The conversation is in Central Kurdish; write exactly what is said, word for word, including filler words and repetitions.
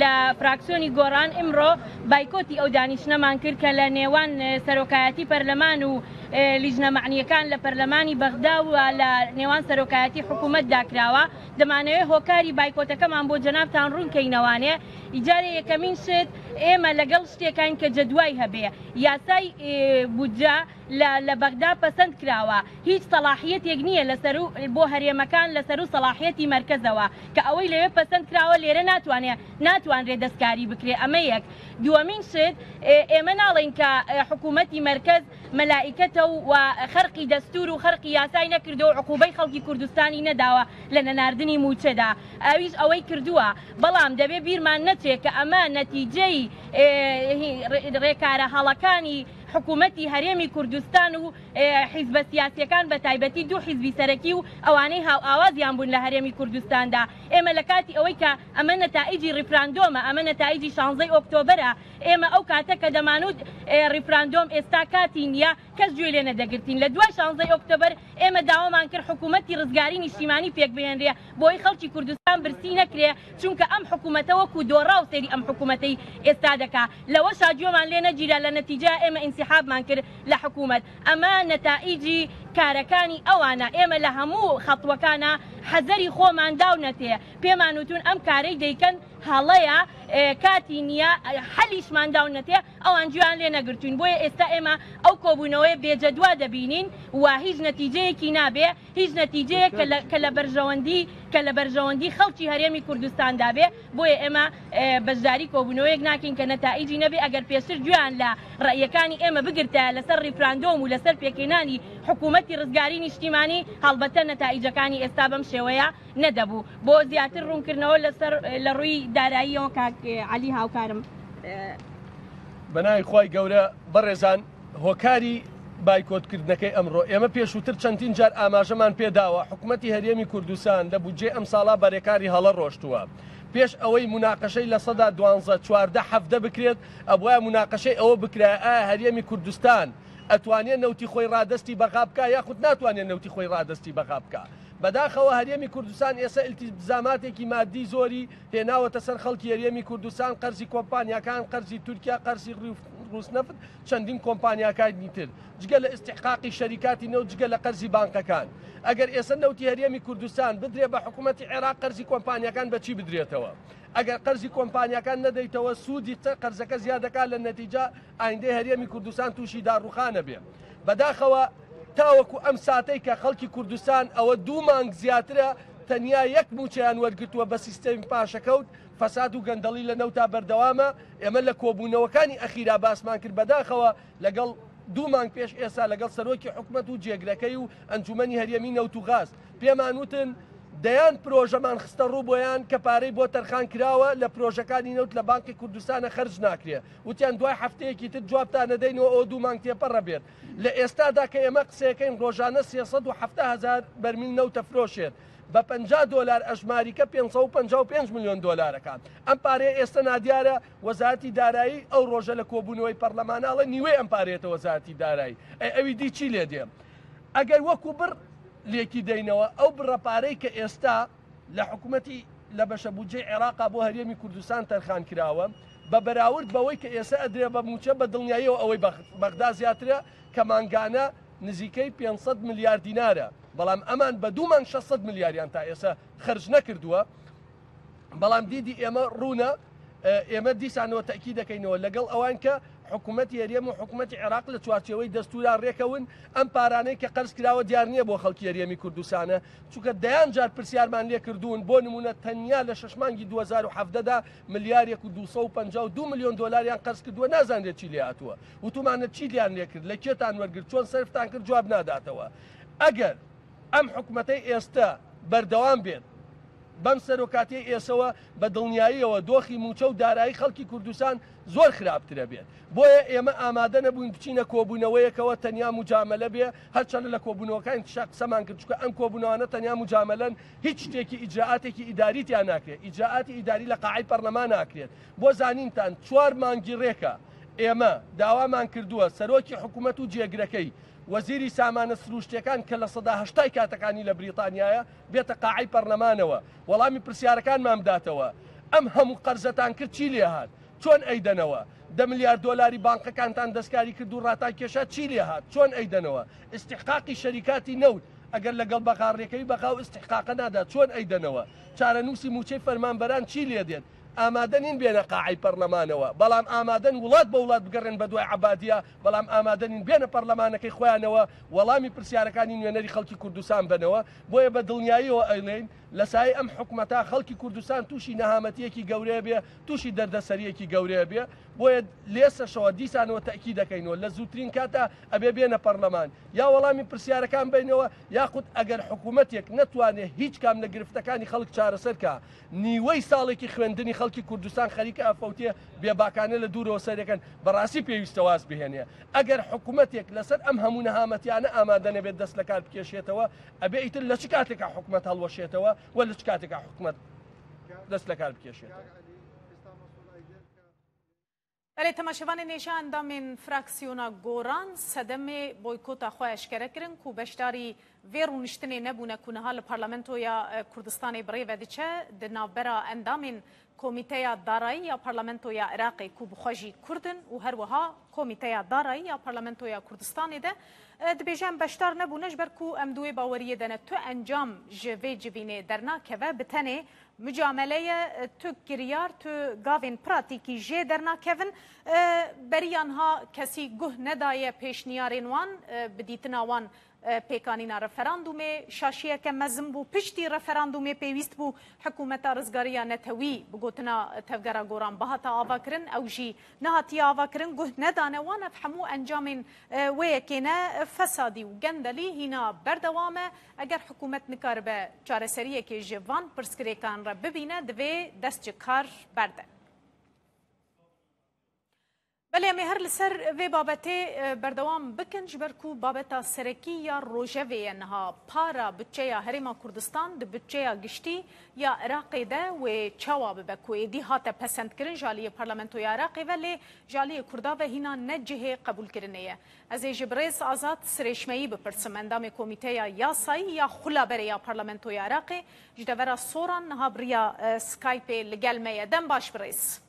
لە فراکسیۆنی گۆڕان ئمڕۆ بایکۆتی ئەو دانیشتنەمان کرد کە لە نێوان سەرۆکایەتی پەرلەمان و لیژنە مەعنیەکان لە پەرلەمانی بەغدا و لە نێوان سەرۆکایەتی حکوومەتدا کراوە. دەمانەوێت هۆکاری بایکۆتەکەمان بۆ جەنابتان ڕوونکەینەوانێ. ئیجارێ یەکەمین شت ئێمە لەگەڵ شتێکین کە جەدوای هەبێ، یاسای بودجە لە بەغدا پەسەند کراوە، هیچ سەلاحیەتێک نییە لەسەر بۆ هەرێمەکان لەسەر و سەلاحیەتی مەرکەزەوە کە ئەوەی لەوێ پەسەند کراوە لێرە ناتوانێت ناتوانرێت دەستکاری بکرێ. ئەمە یەک. دووەمین شت ئێمە ناڵین کە حکوومەتی مەرکەز مەلائیکەتە و خەرقی دەستور و خەرقی یاسای نەکردو و عقوبەی خەڵکی کوردستانی نەداوە لە نەناردنی موچەدا، ئەویش ئەوەی کردووە. بەڵام دەبێ بیرمان نەچێت کە ئەمە نەتیجەی ڕێکارە هەڵەکانی حکوومەتی هەرێمی کوردستان و حیزبە سیاسیەکان بە تایبەتی دوو حیزبی سەرەکی و ئەوانەی هاوئاوازیان بوون لە هەرێمی کوردستاندا. ئێمە لە کاتی ئەوەی کە ئەمە نەتائیجی ڕیفراندۆمە، ئەمە نەتائیجی شانزەی ئۆکتۆبەرە، ئێمە ئەو کاتە کە دەمانوت ڕیفراندۆم ئێستا کاتی نییە کەس گوێ لێ نەدەگرتین. لە دوای شانزەی ئۆکتۆبەر ئێمە داوامان کرد حکوومەتی ڕزگاری نیشتیمانی پێک بهێنرێ بۆی خەڵکی کوردستان برسی نەکرێ، چونکە ئەم حکوومەتە وەکو دۆڕاو سەیری ئەم حکوومەتەی ئێستا دەکا. لەوە شاگوێمان لێ نەگیرا، لە نەتیجە ئێمە ئینسیحابمان کرد لە حکوومەت. ئەمە نەتائیجی کارەکانی ئەوانە. ئێمە لە هەموو خەتوەکانە حەزەری خۆمان داونەتێ، پێمان وتون ئەم کارەی دەیکەن هەڵەیە، کاتی نییە، حەلیشمان داونەتێ، ئەوان گوێیان لێ نەگرتوین. بۆیە ئێستا ئێمە ئەو کۆبوونەوەی بێجەدوا دەبینین و هیچ نەتیجەیەکی نابێ، هیچ نەتیجەیەک کە لە بەرژەوەندی کە لە بەرژەوەندی خەڵکی هەرێمی کوردستاندا بێ. بۆیە ئێمە بەشداری کۆبوونەوەیەک ناکەین کە نەتائیجی نەبێ. ئەگەر پێشتر گوێیان لە ڕەئیەکانی ئێمە بگرتایە لەسەر ڕیفراندۆم و لەسەر پێکهێنانی حکوومەتی ڕزگاری نیشتیمانی، هەڵبەتە نەتائیجەکانی ئێستا بەم شێوەیە نەدەبوو. بۆ زیاتر ڕوونکردنەوە لەسەر لە ڕووی داراییەوە کاک عەلی هاوکارم. بەناوی خوای گەورە بەڕێزان، هۆکاری بایکۆتکردنەکەی ئەمڕۆ ئێمە پێشووتر چەندین جار ئاماژەمان پێداوە حکوومەتی هەرێمی کوردستان لە بودجەی ئەم ساڵا بەرێکاری هەڵە ڕۆشتووە. پێش ئەوەی مناقەشەی لە سەدا دوانزە چواردە حەفدە بکرێت، ئەبوایە مناقەشەی ئەوە بکرایە ئایا هەرێمی کوردستان ئەتوانێت نەوتی خۆی ڕادەستی بەغا بکا یاخود ناتوانێت نەوتی خۆی ڕادەستی بەغا بکا. بەداخەوە هەرێمی کوردستان ئێستا ئیلتیزاماتێکی مادی زۆری هێناوەتە سەر خەڵکی هەرێمی کوردستان، قەرزی کۆمپانیاکان، قەرزی تورکیا، قەرزی ڕووسنەفت، چەندین کۆمپانیاکانی تر، جگە لە ئیستحقاقی شەریکاتی نەوت، جگە لە قەرزی بانقەکان. ئەگەر ئێستا نەوتی هەرێمی کوردستان بدرێ بە حکوومەتی عێراق، قەرزی کۆمپانیاکان بەچی بدرێتەوە؟ ئەگەر قەرزی کۆمپانیاکان نەدەیتەوە سوودی قەرزەکە زیادەکات، لە نەتیجە ئایندەی هەرێمی کوردستان تووشی داڕوخانە بێ. بەداخەوە تاوەکو ئەم ساتەی کە خەڵکی کوردستان ئەوە دوو مانگ زیاترە تەنیا یەک موچەیان وەرگرتووە بە سیستەمی پاشەکەوت، فەساد و گەندەڵی لە نەوتا بەردەوامە. ئێمە لە کۆبوونەوەکانی ئەخیرا باسمان کرد، بەداخەوە لەگەڵ دوو مانگ پێش ئێستا لەگەڵ سەرۆکی حکومەت و جێگرەکەی و ئەنجومەنی هەرێمی نەوت و غاز پێمان وتن دەیان پرۆژەمان خستە ڕوو بۆیان کە پارەی بۆ تەرخان کراوە لە پرۆژەکانی نەوت لە بانقی کوردستانە خەرج ناکرێ. وتیان دوای هەفتەیەکی تر جوابتان نەدەینەوە ئەو دوو مانگ تێپەڕە بێت. لە ئێستادا کە ئێمە قسەکەین ڕۆژانە سێ سەد و حەفتا هەزار بەرمیل نەوتە فرۆشێت بە پەنجا دۆلار ئەژماریکە پێنج سەد و پەنجا و پێنج ملیۆن دۆلارەکان. ئەم پارەیە ئێستا نادیارە. وەزارەتی دارایی ئەو ڕۆژە لە کۆبوونەوەی پەرلەماناڵە نیوەی ئەم پارەیەتە وەزارەتی دارایی. ئەی ئەوی دی چی لێ دێ؟ ئەگەر وەکو بڕ لێکی دەینەوە ئەو بڕە پارەی کە ئێستا لە حکوومەتی لە بەشە بودجەی عێراقا بۆ هەرێمی کوردستان تەرخان کراوە بە بەراورد بەوەی کە ئێستا ئەدرێ بە موچە، بە دڵنیاییەوە ئەوەی بەغدا زیاترە کە مانگانە نزیکەی پێنج سەد ملیار دینارە، بەڵام ئەمان بە دوو مانگ شەش سەد ملیاریان تا ئێستا خەرج نەکردووە. بەڵام دیدی ئێمە ڕوونە، ئێمە دیسانەوە تەئکید دەکەینەوە لەگەڵ ئەوان کە حکوومەتی هەرێم و حکوومەتی عێراق لە چوارچێوەی دەستورا ڕێکەون. ئەم پارانەی کە قەرز کراوە دیار نییە بۆ خەڵکی هەرێمی کوردستانە، چونکە دەیان جار پرسیارمان لێ کردوون. بۆ نمونە تەنیا لە شەش مانگی دوو هەزار و حەفدەدا ملیارێک و دوو سەد و پەنجا و دوو ملیۆن دۆلاریان قەرز کردووە، نازانرێت چی لێ هاتووە. وتومانە چی لیان لێ کرد، لە کێتان وەرگرت، چۆن سەرفتان کرد، جواب ناداتەوە. ئەگەر ئەم حکومەتەی ئێستا بەردەوام بێت بەم سەرۆکاتیەی ئێسەوە، بە دڵنیاییەوە دۆخی موچە و دارایی خەڵکی کوردستان زۆر خراپترە بێت. بۆیە ئێمە ئامادە نەبووین بچینە کۆبوونەوەیەکەوە تەنیا مجاملە بێ، هەرچەندە لە کۆبوونەوەکانی تشا قسەمان کرد، چونکە ئەم کۆبوونەوانە تەنیا مجاملەن، هیچ شتێکی ئیجراعاتێکی ئیداری تیا ناکرێت. ئیجراعاتی ئیداری لە قاعەی پەرلەمان ناکرێت. بۆ زانینتان چوار مانگی ڕێکە ئێمە داوامان کردووە سەرۆکی حکوومەت و جێگرەکەی وەزیری سامانە سروشتیەکان کە لە سەدا هەشتای کاتەکانی لە بریتانیایە بێتە قاعەی پەرلەمانەوە وەڵامی پرسیارەکانمان بداتەوە. ئەم هەموو قەرزەتان کرد چی لێهات؟ چۆن ئەیدەنەوە؟ دە ملیار دۆلاری بانقەکانتان دەستکاری کرد و ڕاتان کێشا چی لێهات؟ چۆن ئەیدەنەوە؟ ئیستحقاقی شەریکاتی نەوت ئەگەر لەگەڵ بەغا ڕێکەوی بەغا و ئیستحقاقە نادا چۆن ئەیدەنەوە؟ چارەنووسی موچەی فەرمانبەران چی لێدێت؟ ئامادە نین بێنە قاعەی پەرلەمانەوە، بەڵام ئامادەن وڵات بە وڵات بگەڕێن بە دوای عەبادیە، بەڵام ئامادە نین بێنە پەرلەمانەکەی خۆیانەوە وەڵامی پرسیارەکانی نوێنەری خەڵکی کوردستان بنەوە. بۆیە بە دڵنیاییەوە ئەیڵێین لە سایەی ئەم حکومەتە خەڵکی کوردستان تووشی نەهامەتیەکی گەورەیە بێ، تووشی دەردەسەریەکی گەورەیە بێ. بۆیە لێسەشەوە دیسانەوە تەئکید دەکەینەوە لە زووترین کاتا ئەبێ بێنە پەرلەمان یا وەڵامی پرسیارەکان بینەوە، یاخود ئەگەر حکوومەتێک نەتوانێت هیچ کام لە گرفتەکانی خەڵک چارەسەر کە نیوەی ساڵێکی خوێندنی خەڵکی کوردستان خەریکە ئەفەوتێ بێباکانە لە دوورەوە سەرەکەن، بەڕاستی پێویستە واز بهێنێ. ئەگەر حکوومەتێک لەسەر ئەم هەموو نەهامەتیانە ئامادە نەبێت دەست لە کار بکێشێتەوە، ئەبێ ئیتر لە چ کاتێکا حکوومەت هەڵوەشێتەوە و لە چ کاتێکا حکوومەت دەست لە کار بکێشێتەوە. بەلێ تەماشەوانێ نێژە ئەندامên فراکسیۆنا گۆران سەدەمێ بۆیکۆتا خۆی ئەشکەرە کردن و بەشداری vê rûniştinê nebûne ku niha li Parlamentoya Kurdistanê birêve diçe di navbera endamên Komîteya Darayî ya Parlamentoya Iraqê ku bi xwe jî Kurd in û her wiha Komîteya Darayî ya Parlamentoya Kurdistanê de dibêje em beşdar nebûne ji ber ku em di wê baweriyê de ne tu encam ji vê civînê dernakeve bi tenê mücameleye tu kiryar tu gavên pratîkî jê dernakevin. Beriyan ha kesî guh nedaye pêşniyarên wan bi dîtina wan pêkanîna referandûmê şaşiyeke mezin bû. Piştî referandûmê pêwîst bû hikûmeta rizgariya netewî bi gotina tevgera goran bihata avakirin, ew jî nehatiye avakirin, guh nedane wan. Ev hemû encamên wê yekê ne fesadî û gendelî hîna berdewam e. Eger hikûmet nikaribe çareseriyekê ji van pirsgirêkan re bibîne, divê dest ji kar berde. Belê em ê her li ser vê babetê berdewam bikin ji ber ku babeta serekî ya rojevê ye niha para bütçeya Herêma Kurdistan di bütçeya giştî ya Iraqê de wê çawa bibe ku êdî hate pesendkirin ji aliyê Parlamentoya Iraqê ve lê ji aliyê Kurda ve hîna ne cihê qebûlkirinê ye. Ez ê ji birêz Azad Sirêşmeyî bipirsim endamê Komîteya Yasayî ya Xula Berê ya Parlamentoya Iraqê ji devera Soran niha biriya Skypeê li gel me ye. Dem baş birêz.